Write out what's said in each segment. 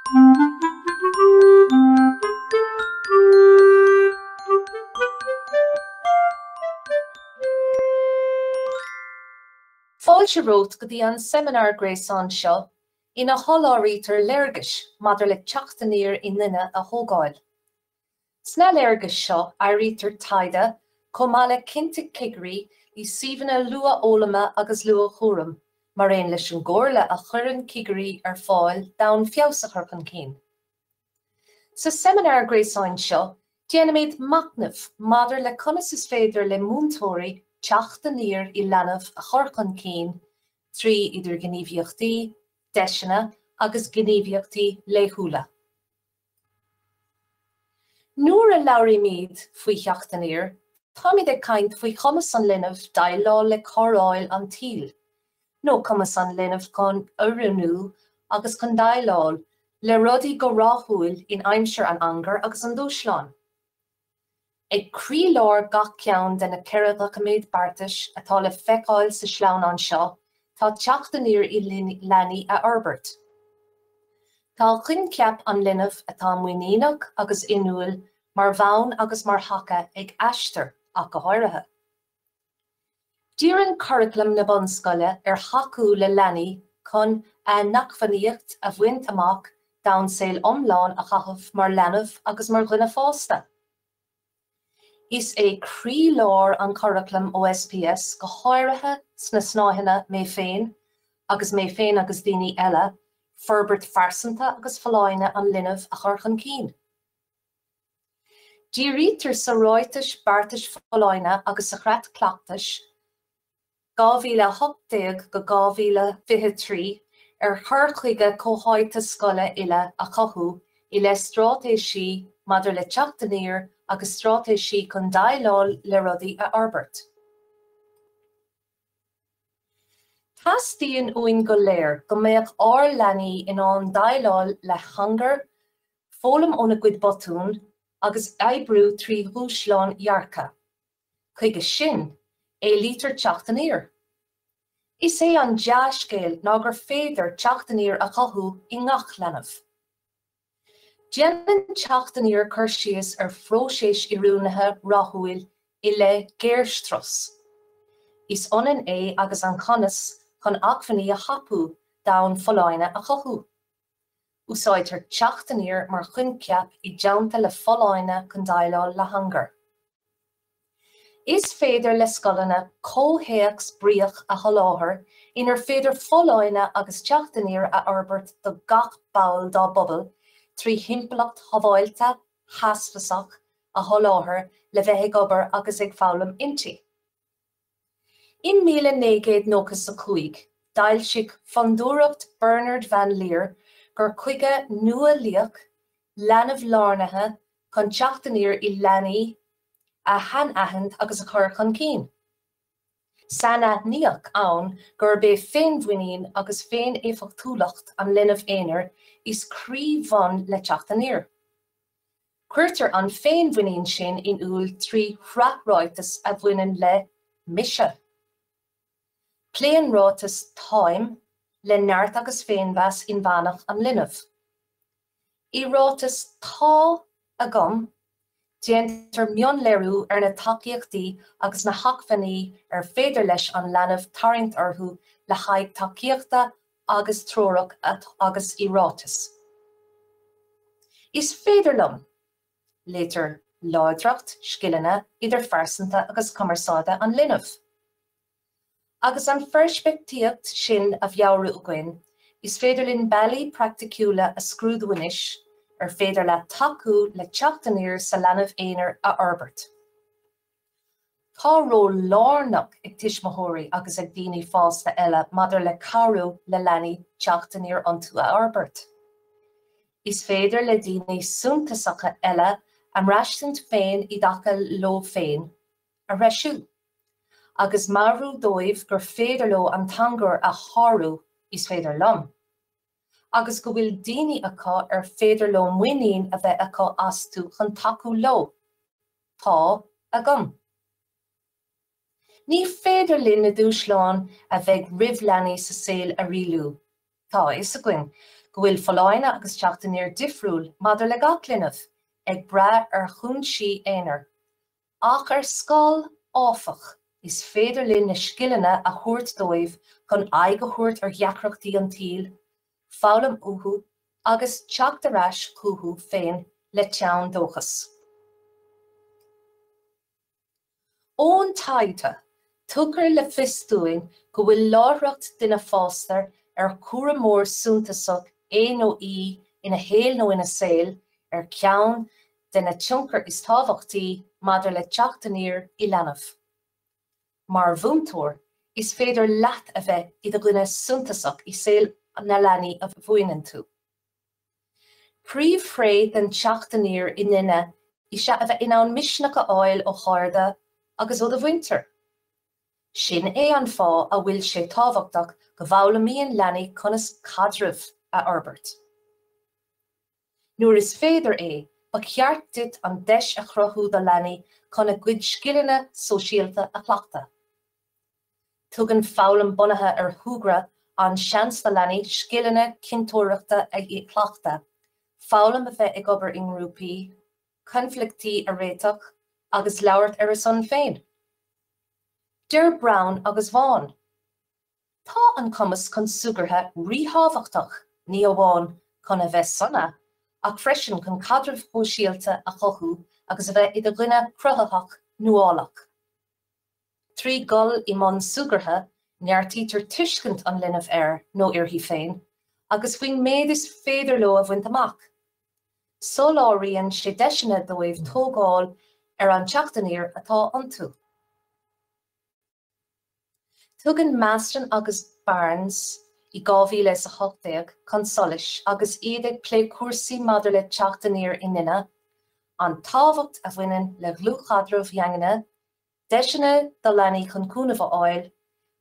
Fáilte romhat go dtí an seimineár gréasáin seo ina sholáthraítear léargais maidir le teacht aniar i nduine a thógáil. Sna léargais seo áirítear taighde chomh maith le cinnte cigirí i suíomhanna luathfhoghlama agus luathchúraim mar aon leis an gcomhairle a chuireann cigirí ar fáil d'fhonn feabhas a chur chun cinn. Sa seimineár gréasáin seo déanfaimid machnamh maidir le conas is féidir le múinteoirí teacht aniar i leanbh a chur chun cinn trí idirghníomhaíochtaí, deiseanna agus gníomhaíochtaí laethúla. Nuair a labhraímid faoi theacht aniar, táimid ag caint faoi chumas an linbh déileáil le cóireáil an tsaoil, nó cumas an linbh chun oiriúnú agus chun déileáil le rudaí go rathúil in aimsir an angair agus an dúshláin. Ag croílár gach ceann de na 4 dhoiciméad beartais atá le feiceáil sa sleamhnán seo tá teacht aniar i leanaí a fhorbairt. Tá coincheap an linbh atá muiníneach agus inniúil mar bhonn agus mar thaca ag Aistear ach go háirithe. Díríonn curaclam na bunscoile ar thacú le leanaí chun a n-acmhainneacht a bhaint amach d'fhonn saol iomlán a chaitheamh mar leanbh agus mar dhuine fásta. Is é croílár an churaclaim OSPS, go háirithe sna snáitheanna Mé Féin agus Mé Féin agus Daoine Eile, forbairt phearsanta agus folláine an linbh a chur chun cinn. Dírítear sa Ráiteas Beartais Folláine agus sa Chreat Cleachtais 2018-2023 ar chur chuige comhtháite scoile uile a chothú i leith straitéisí maidir le teacht aniar agus straitéisí chun déileáil le rudaí a fhorbairt. Teastaíonn uainn go léir go mbeadh ár leanaí in ann déileáil le hangar, foghlaim óna gcuid botún agus oibriú trí dhúshláin dhearcadh. Chuige sin, éilítear teacht aniar. Is é an dea-scéal ná gur féidir teacht aniar a chothú i ngach leanbh. Déanann teacht aniar cur síos ar phróiseas oiriúnaithe rathúil i leith géarstrus. Is ionann é agus an cumas chun acmhainní a thapú d'fhonn folláine a chothú. Úsáidtear teacht aniar mar choincheap i dteannta le folláine chun déileáil le hangar. Is féidir le scoileanna comhthéacs bríoch a sholáthar inar féidir folláine agus teacht aniar a fhorbairt do gach ball dá bpobal trí thimpeallacht shábháilte, theasmhasach a sholáthar le bheith ag obair agus ag foghlaim inti. In 1995, d'fhoilsigh Fondúireacht Bernard Van Leer cur chuige nuálaíoch, leanbh-lárnaithe chun teacht aniar i leanaí a shainaithint agus a chur chun cinn. Sainaithníodh ann gurb é féinmhuinín agus féin-éifeachtúlacht an linbh aonair is croí-bhonn le teacht aniar. Cuirtear an féinmhuinín sin in iúl trí shraith ráiteas a bhaineann le 'mise'. Pléann ráiteas 'táim' le neart agus féinmheas inmheánach an linbh. I ráiteas 'tá agam' déantar mionléiriú ar na tacaíochtaí agus na hacmhainní ar féidir leis an leanbh tarraingt orthu le haghaidh tacaíochta agus treorach agus i ráiteas 'Is féidir liom', léirítear láidreacht scileanna idirphearsanta agus cumarsáide an linbh. Agus an pheirspictíocht sin á mheabhrú againn, is féidir linn bealaí praiticiúla a scrúdú anois ar féidir leat tacú le teacht aniar sa leanbh aonair a fhorbairt. Tá ról lárnach ag tuismitheoirí agus ag daoine fásta eile maidir le cabhrú le leanaí teacht aniar iontu a fhorbairt. Is féidir le daoine suntasacha eile a mbraistint féin i dtaca leo féin a threisiú, agus meabhrú dóibh gur féidir leo an t-angar a shárú, is féidir liom, agus go bhfuil daoine acu ar féidir leo muinín a bheith acu astu chun tacú leo. Tá agam. Ní féidir linn na dúshláin a bheidh roimh leanaí sa saol a rialú. Tá a fhios againn go bhfuil folláine agus teacht aniar difriúil maidir le gach linbh, ag brath ar chúinsí aonair. Ach ar scoil, áfach, is féidir linn na scileanna a thabhairt dóibh chun aghaidh a thabhairt ar dheacrachtaí an tsaoil, foghlaim uathu agus teacht ar ais chucu féin le teann dóchais. Ón taighde, tugtar le fios dúinn go bhfuil láithreacht duine fásta ar cúramóir suntasach é nó í ina shaol nó ina saol ar cheann de na tionchair is tábhachtaí maidir le teacht aniar i leanbh. Mar mhúinteoir, is féidir leat a bheith i do dhuine suntasach i saol na leanaí a mhúineann tú. Príomhthréith den teacht aniar i nduine is ea a bheith in ann misneach a fháil ó chairde agus ó do mhuintir. Sin é an fáth a bhfuil sé tábhachtach go bhfoghlaimíonn leanaí conas caidrimh a fhorbairt. Nuair is féidir é, ba cheart duit an deis a chruthú do leanaí chun a gcuid scileanna sóisialta a chleachtadh. Tugann foghlaim bunaithe ar shúgradh an seans do leanaí scileanna cinnteoireachta a chleachtadh, foghlaim a bheith ag obair i ngrúpaí, coinbhleachtaí a réiteach agus labhairt ar a son féin. Deir Brown agus Vaughan. Tá an cumas chun súgartha ríthábhachtach ní amháin chun a bheith sona, ach freisin chun caidrimh shóisialta a chothú agus a bheith i do dhuine cruthaitheach nuálach. Trí dhul i mbun súgartha, neartaítear tuiscint an linbh air nó uirthi féin agus faoin méid is féidir leo a bhaint amach. Soláthraíonn sé deiseanna dóibh tógáil ar an teacht aniar atá iontu. Tugann Masten agus Barnes i 2018 chun solais, agus iad ag plé cúrsaí maidir le teacht aniar i nduine, an tábhacht a bhaineann le dlúthchaidrimh dhaingne, deiseanna do leanaí chun cúnamh a fháil,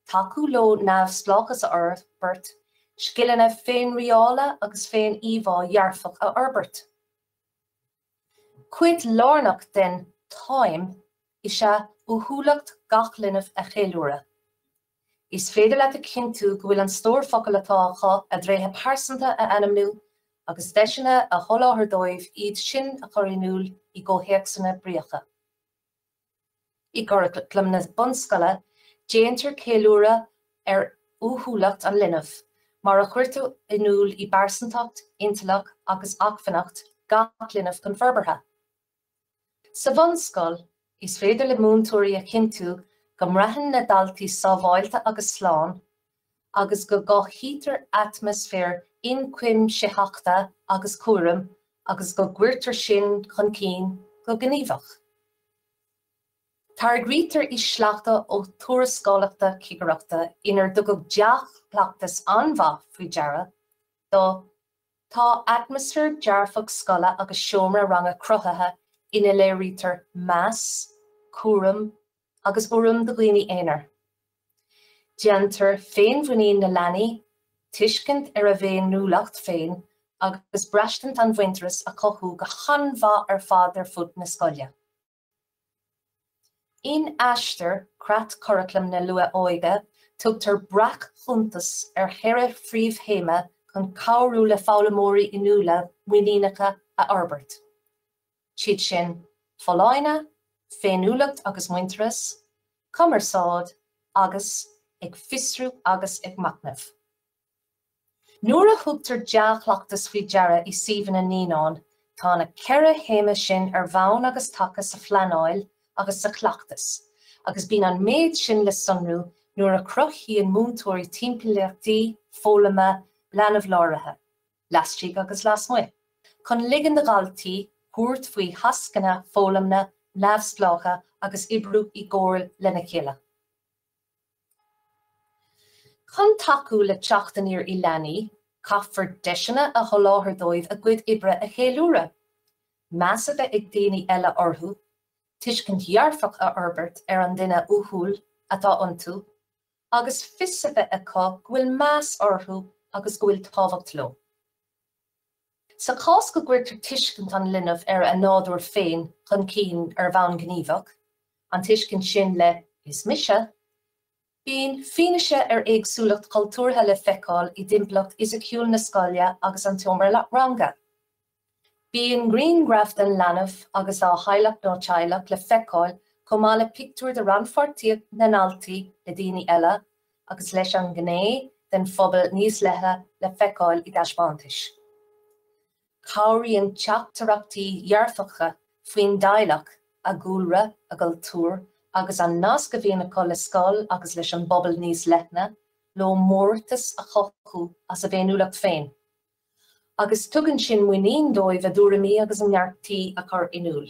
tacú leo neamhspleáchas a fhorbairt, scileanna féinrialála agus féin-íomhá dhearfach a fhorbairt. Cuid lárnach den 'Táim' is ea uathúlacht gach linbh a cheiliúradh. Is féidir leat a chinntiú go bhfuil an stór focal atá acu, a dtréithe pearsanta a ainmniú agus deiseanna a sholáthar dóibh iad sin a chur in iúl i gcomhthéacsanna bríocha. I gcuraclam na bunscoile, déantar ceiliúradh ar uathúlacht an linbh, mar a chuirtear in iúl i bpearsantacht, intleacht agus acmhainneacht gach linbh chun forbartha. Sa bhunscoil, is féidir le múinteoirí a chinntiú go mbraitheann na daltaí sábháilte agus slán, agus go gcothaítear atmaisféar ionchuimsitheachta agus cúraim agus go gcuirtear sin chun cinn go gníomhach. Tagraítear i sleachta ó thuarascálacha cigireachta inar tugadh dea-chleachtas an-mhaith faoi deara do Tá atmaisféar dearfach scoile agus seomra ranga cruthaithe ina léirítear meas, cúram agus urraim do dhaoine aonair. Déantar féinmhuinín na leanaí, tuiscint ar a bhféiniúlacht féin agus braistint an mhuintearais a chothú go han-mhaith ar fad ar fud na scoile. In Aistear, Creatchuraclam na Luath-Óige, tugtar breac-chuntas ar cheithre phríomhthéama chun cabhrú le foghlaimeoirí inniúla muiníneacha a fhorbairt. Siad sin, folláine, féiniúlacht agus muintearas, cumarsáid agus ag fiosrú agus ag machnamh. Nuair a thugtar dea-chleachtas faoi deara i suíomhanna naíonán, tá na ceithre théama sin ar bhonn agus taca sa phleanáil agus sa chleachtas, agus bíonn an méid sin le sonrú nuair a chruthaíonn múinteoirí timpeallachtaí foghlama leanbh-láraithe. laistigh agus lasmuigh, chun ligean do dhaltaí tabhairt faoi thascanna foghlama neamhspleácha agus oibriú i gcomhar lena chéile. Chun tacú le teacht aniar i leanaí, caithfear deiseanna a sholáthar dóibh a gcuid oibre a cheiliúradh, meas a bheith ag daoine eile orthu, tuiscint dhearfach a fhorbairt ar an duine uathúil atá iontu, agus fios a bheith acu go bhfuil meas orthu agus go bhfuil tábhacht leo. Sa chás go gcuirtear tuiscint an linbh ar a nádúr féin chun cinn ar bhonn gníomhach, an tuiscint sin le 'is mise', Bíonn fianaise ar éagsúlacht chultúrtha le feiceáil i dtimpeallacht fhisiciúil na scoile agus an tseomra ranga. Bíonn grianghraif den leanbh agus dá theaghlach nó teaghlach le feiceáil chomh maith le pictiúir de rannpháirtíocht na ndaltaí le daoine eile agus leis an ngné den phobal níos leithne le feiceáil i dtaispeántais. Cabhraíonn teachtaireachtaí dearfacha faoin dteaghlach, a gcúlra, a gcultúr agus an nasc a bhíonn acu le scoil agus leis an bpobal níos leithne leo mórtas a chothú as a bhféiniúlacht féin, agus tugann sin muinín dóibh a dtuairimí agus a ndearcthaí a chur in iúl.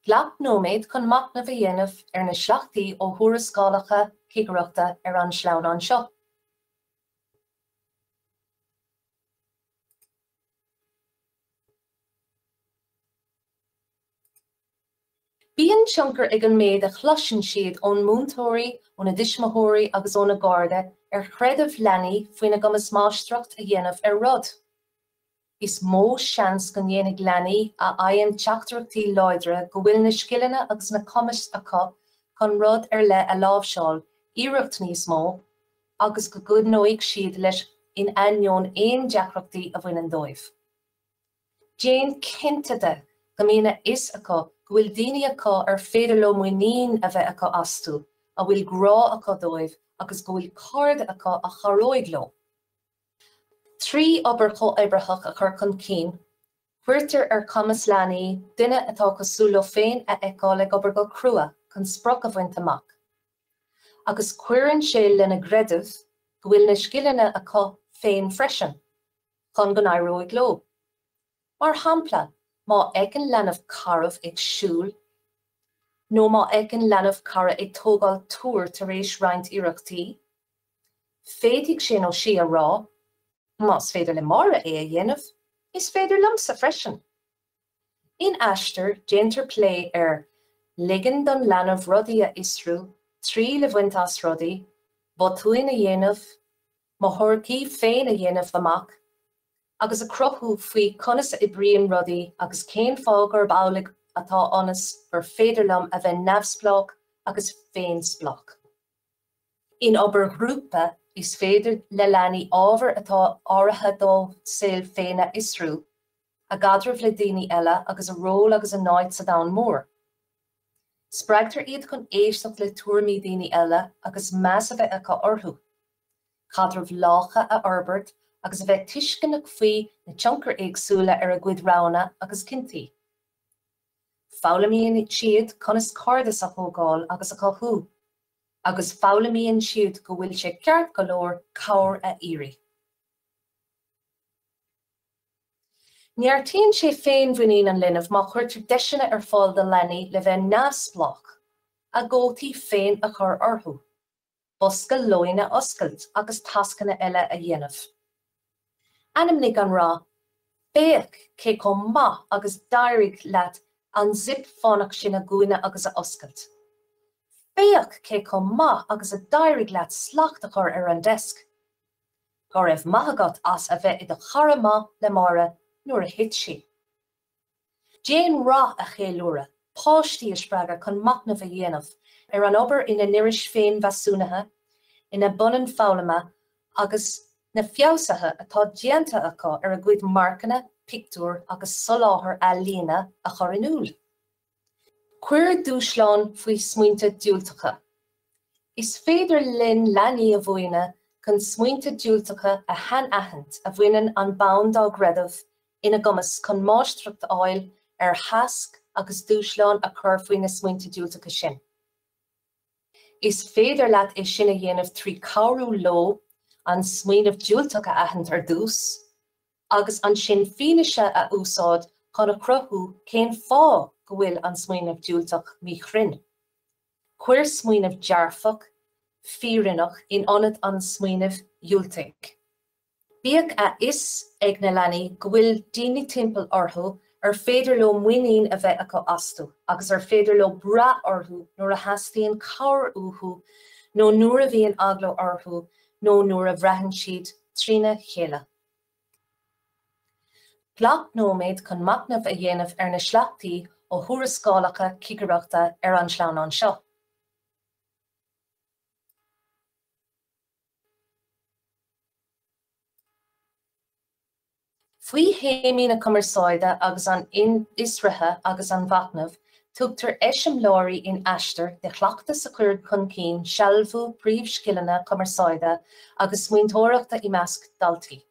Glac nóiméad chun machnamh a dhéanamh ar na sleachtaí ó thuarascálacha cigireachta ar an sleamhnán seo. Bíonn tionchar ag an méid a chloiseann siad ón múinteoirí, óna dtuismitheoirí agus óna gcairde ar chreideamh leanaí faoina gcumas máistreacht a dhéanamh ar rud. Is mó seans go ndéanfaidh leanaí a fhaigheann teachtaireachtaí láidre go bhfuil na scileanna agus na cumais acu chun rud ar leith a láimhseáil iarracht níos mó agus go gcoinneoidh siad leis in ainneoin aon deacrachtaí a bhaineann dóibh. Déan cinnte de go mbíonn a fhios acu go bhfuil daoine acu ar féidir leo muinín a bheith acu astu, a bhfuil grá acu dóibh agus go bhfuil cairde acu a chabhróidh leo. Trí obair chomhoibritheach a chur chun cinn, cuirtear ar chumas leanaí duine atá cosúil leo féin a fheiceáil ag obair go crua chun sprioc a bhaint amach. Agus cuireann sé lena gcreideamh go bhfuil na scileanna acu féin freisin chun go n-éireoidh leo. Mar shampla, má fheiceann leanbh cara ag siúl nó má fheiceann leanbh cara ag tógáil túir tar éis roinnt iarrachtaí, féadfaidh sé nó sí a rá, 'Más féidir le Máire é a dhéanamh, is féidir liomsa freisin! In Aistear, déantar plé ar ligean don leanbh rudaí a fhiosrú, triail a bhaint as rudaí, botúin a dhéanamh, mo thuairimí féin a dhéanamh amach, agus a chruthú faoi conas a oibríonn rudaí agus cén fáth gurb amhlaidh atá ionas gur féidir liom a bheith neamhspleách agus féinspleách. In obair ghrúpa, is féidir le leanaí ábhair atá áirithe dá saol féin a fhiosrú, a gcaidreamh le daoine eile agus a ról agus a n-áit sa domhan mór. Spreagtar iad chun éisteacht le tuairimí daoine eile agus meas a bheith acu orthu, caidrimh lácha a fhorbairt agus a bheith tuisceanach faoi na tionchair éagsúla ar a gcuid roghanna agus cinntí. Foghlaimíonn siad conas cairdeas a thógáil agus a chothú, agus foghlaimíonn siad go bhfuil sé ceart go leor cabhair a iarraidh. Neartaíonn sé féinmhuinín an linbh má chuirtear deiseanna ar fáil do leanaí le bheith neamhspleách, a gcótaí féin a chur orthu, bosca lóin a oscailt agus tascanna eile a dhéanamh. Ainmnigh an rath, Féach cé chomh maith agus d'éirigh leat an zip fánach sin a dhúnadh agus a oscailt. Féach cé chomh maith agus a d'éirigh leat slacht a chur ar an deasc. Go raibh maith agat as a bheith i do chara maith le Máire nuair a thit sí. Déan rath a cheiliúradh, páistí a spreagadh chun machnamh a dhéanamh ar an obair ina n-iris féinmheasúnaithe, ina bpunann foghlama agus na feabhsuithe atá déanta acu ar a gcuid marcanna, pictiúr agus soláthar ealaíne a chur in iúl. Cuir dúshlán faoi smaointe diúltacha. Is féidir linn leanaí a mhúineadh chun smaointe diúltacha a shainaithint a bhaineann an bonn dá gcreideamh ina gcumas chun máistreacht a fháil ar thasc agus dúshlán a chur faoi na smaointe diúltacha sin. Is féidir leat é sin a dhéanamh trí cabhrú leo an smaoineamh diúltach a aithint ar dtús, agus ansin fianaise a úsáid chun a chruthú cén fáth go bhfuil an smaoineamh diúltach míchruinn. Cuir smaoineamh dearfach, fírinneach in ionad an smaoinimh dhiúltaigh. Bíodh a fhios ag na leanaí go bhfuil daoine timpeall orthu ar féidir leo muinín a bheith acu astu agus ar féidir leo brath orthu nuair a theastaíonn cabhair uathu nó nuair a bhíonn eagla orthu nó nuair a bhraitheann siad trína chéile. Glac nóiméad chun machnamh a dhéanamh ar na sleachtaí ó thuarascálacha cigireachta ar an sleamhnán seo. Faoi théamaí na cumarsáide agus an fhiosraithe agus an mhachnaimh, tugtar eiseamláirí in Aistear de chleachtais a chuireann chun cinn sealbhú príomhscileanna cumarsáide agus smaointeoireachta i measc daltaí.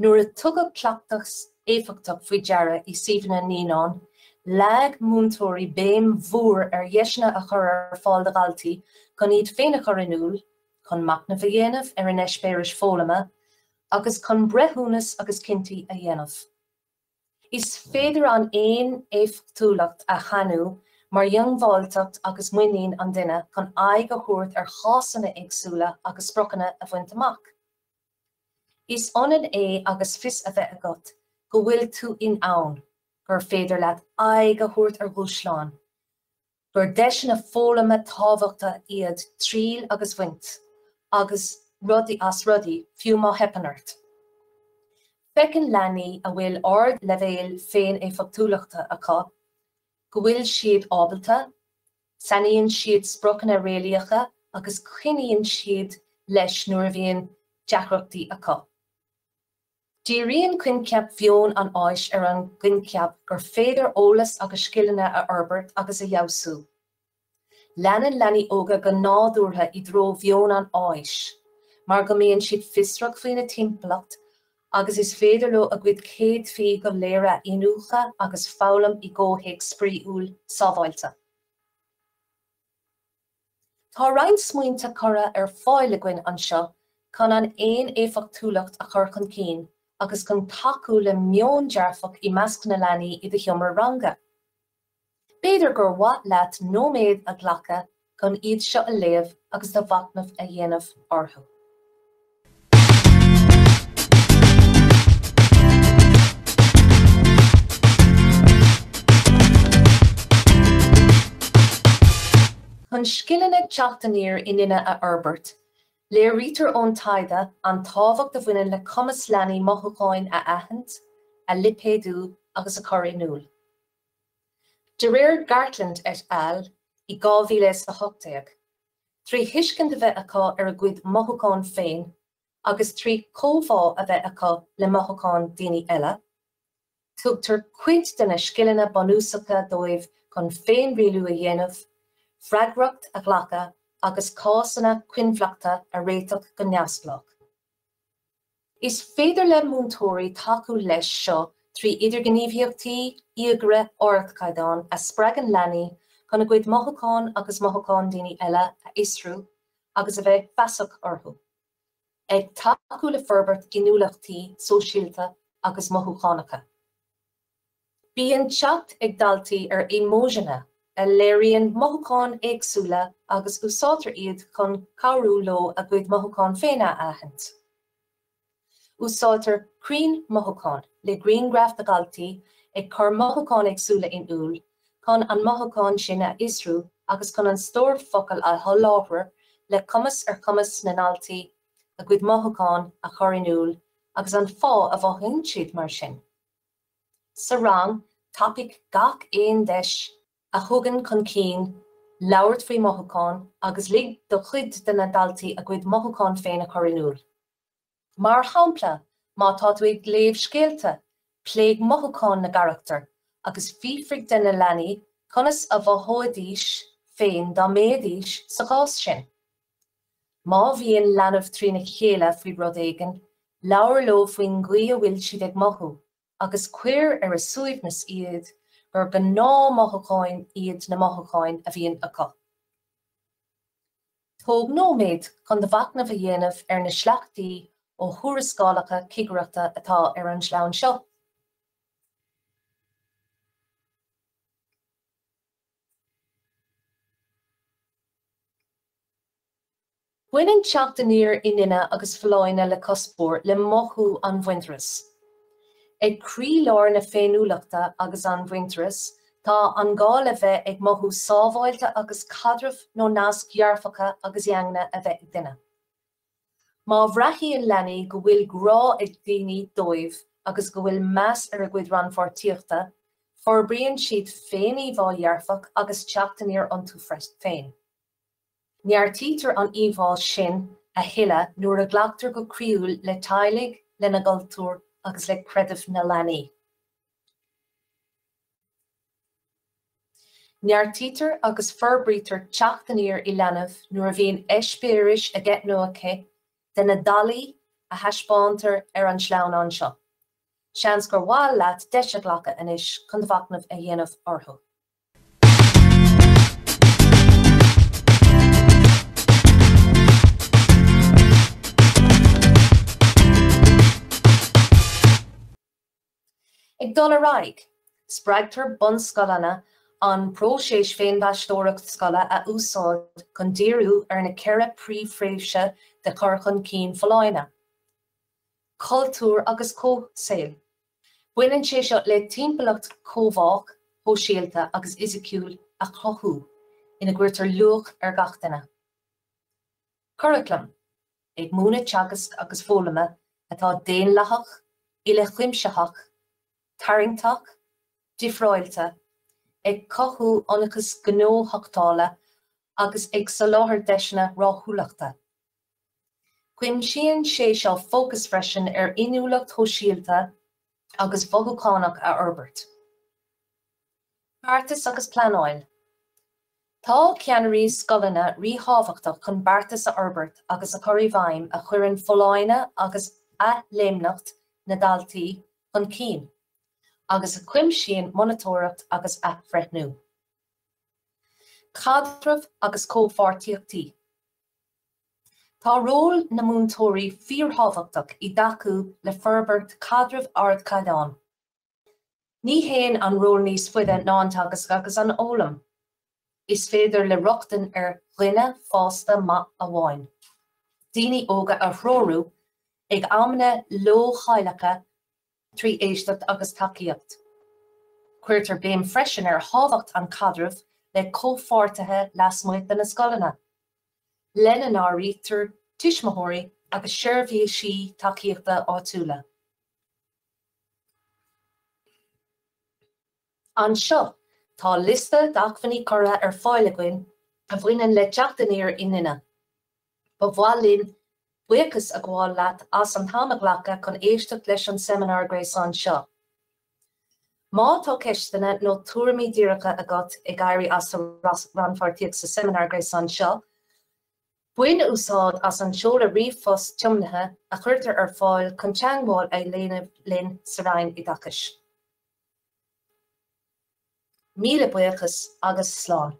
Nuair a tugadh cleachtas éifeachtach faoi deara i suíomhanna naíonán, leag múinteoirí béim mhór ar dheiseanna a chur ar fáil do dhaltaí chun iad féin a chur in iúl, chun machnamh a dhéanamh ar a n-eispéiris foghlama agus chun breithiúnas agus cinntí a dhéanamh. Is féidir an fhéin-éifeachtúlacht a shainiú mar dhiongbháilteacht agus muinín an duine chun aghaidh a thabhairt ar chásanna éagsúla agus spriocanna a bhaint amach. Is ionann é agus fios a bheith agat go bhfuil tú in ann, gur féidir leat aghaidh a thabhairt ar dhúshláin, gur deiseanna foghlama tábhachtacha iad triail agus baint agus rudaí as rudaí, fiú má theipeann ort. Feiceann leanaí a bhfuil ardleibhéal féin-éifeachtúlachta acu go bhfuil siad ábalta, Sainíonn siad spriocanna réalaíocha agus coinníonn siad leis nuair a bhíonn deacrachtaí acu. Díríonn coincheap mheon an fháis ar an gcoincheap gur féidir eolas agus scileanna a fhorbairt agus a fheabhsú. Leanann leanaí óga go nádúrtha i dtreo mheon an fháis mar go mbíonn siad fiosrach faoina dtimpeallacht agus is féidir leo a gcuid céadfaí go léir a iniúchadh agus foghlaim i gcomhthéacs spraíúil sábháilte. Tá roinnt smaointe curtha ar fáil againn anseo chun an fhéin-éifeachtúlacht a chur chun cinn agus chun tacú le meon dearfach i measc na leanaí i do sheomra ranga. B'fhéidir gur mhaith leat nóiméad a ghlacadh chun iad seo a léamh agus do mhachnamh a dhéanamh orthu. Chun scileanna teacht aniar i nduine a fhorbairt, léirítear ón taighde an tábhacht a bhaineann le cumas leanaí mothúcháin a aithint, a lipéadú agus a chur in iúl. De réir Gartland et al. I 2018, trí thuiscint a bheith acu ar a gcuid mothúchán féin agus trí chomhbhá a bheith acu le mothúcháin daoine eile, tugtar cuid de na scileanna bunúsacha dóibh chun féinrialú a dhéanamh, freagracht a ghlacadh agus cásanna coinbhleachta a réiteach go neamhspleách. Is féidir le múinteoirí tacú leis seo trí idirghníomhaíochtaí íogaire ardchaighdeáin a spreagann leanaí chun a gcuid mothúchán agus mothúcháin daoine eile a fhiosrú agus a bheith feasach orthu, ag tacú le forbairt inniúlachtaí sóisialta agus mothúchánacha. Bíonn teacht ag daltaí ar emojinna a léiríonn mothúcháin éagsúla agus úsáidtear iad chun cabhrú leo a gcuid mothúchán féin a aithint. Úsáidtear crainn mothúchán, le grianghraif de dhaltaí ag cur mothúcháin éagsúla in iúl, chun an mothúchán sin a fhiosrú agus chun an stór focal a sholáthar le cumas ar chumas na ndaltaí a gcuid mothúchán a chur in iúl agus an fáth a mhothaíonn siad mar sin. Sa rang, tapaigh gach aon deis a thugann chun cinn labhairt faoi mhothúcháin agus lig do chuid de na daltaí a gcuid mothúchán féin a chur in iúl. Mar shampla, má tá tú ag léamh scéalta, pléigh mothúcháin na gcarachtar agus fiafraigh de na leanaí conas a mhothóidís féin dá mbeidís sa chás sin. Má bhíonn leanbh trína chéile faoi rud éigin, labhair leo faoin gcaoi a bhfuil siad ag mothú agus cuir ar a suaimhneas iad gur gnáthmhothúcháin iad na mothúcháin a bhíonn acu. Tóg nóiméad chun do mhachnamh a dhéanamh ar na sleachtaí ó thuarascálacha cigireachta atá ar an sleamhnán seo. Baineann teacht aniar i nduine agus folláine le cuspóir le mothú an mhuintearais. Ag croílár na féiniúlachta agus an mhuintearais tá an gá le bheith ag mothú sábháilte agus caidrimh nó naisc dhearfacha agus dhaingne a bheith ag duine. Má bhraitheann leanaí go bhfuil grá ag daoine dóibh agus go bhfuil meas ar a gcuid rannpháirtíochta, Forbraíonn siad féin-íomhá dhearfach agus teacht aniar iontu féin. Neartaítear an íomhá sin a thuilleadh nuair a ghlactar go croíúil le teaghlaigh, lena gcultúr agus le creideamh na leanaí. Neartaítear agus forbraítear teacht aniar i leanbh nuair a bhíonn eispéiris aige nó aici de na dalaí a thaispeántar ar an sleamhnán seo. Seans gur mhaith leat deis a ghlacadh anois chun do mhachnamh a dhéanamh orthu. Ag dul ar aghaidh, spreagtar bunscoileanna an próiseas féinmheastóireacht scoile a úsáid chun díriú ar na 4 príomhthréimhse de chur chun cinn folláine, cultúr agus comhshaoil. Baineann sé seo le timpeallacht chomhbhách, shóisialta agus fhisiciúil a chruthú ina gcuirtear luach ar gach duine. Curaclam, ag múineadh teagasc agus foghlama atá daonlathach, uilechuimsitheach, tarraingteach, difreáilte, ag cothú ionchas gnóthachtála agus ag soláthar deiseanna rathúlachta. Cuimsíonn sé seo fócas freisin ar inniúlacht shóisialta agus mhothúchánach a fhorbairt. Beartas agus pleanáil. Tá ceannairí scoileanna ríthábhachtach chun beartas a fhorbairt agus a chur i bhfeidhm a chuireann folláine agus athléimneacht na ndaltaí chun cinn, agus a chuimsíonn monatóireacht agus athbhreithniú. Caidreamh agus comhpháirtíochtaí. Tá ról na múinteoirí fíorthábhachtach i dtacú le forbairt caidreamh ardchaighdeáin. Ní théann an ról níos faide ná an teagasc agus an fhoghlaim. Is féidir le rochtain ar dhuine fásta maith amháin, daoine óga a threorú ag amanna leochaileacha trí éisteacht agus tacaíocht. Cuirtear béim freisin ar thábhacht an chaidrimh le comhpháirtithe lasmuigh de na scoileanna, lena n-áirítear tuismitheoirí agus seirbhísí tacaíochta áitiúla. Anseo tá liosta d'acmhainní curtha ar fáil againn a bhaineann le teacht aniar i nduine. Ba mhaith linn buíochas a ghabháil leat as an t-am a ghlacadh chun éisteacht leis an seimineár gréasáin seo. Má tá ceisteanna nó tuairimí díreacha agat ag éirí as do rannpháirtíocht sa seimineár gréasáin seo, Bain úsáid as an seoladh ríomhphost tiomnaithe a chuirtear ar fáil chun teagmháil a dhéanamh linn sa Roinn Oideachais. Míle buíochas agus slán.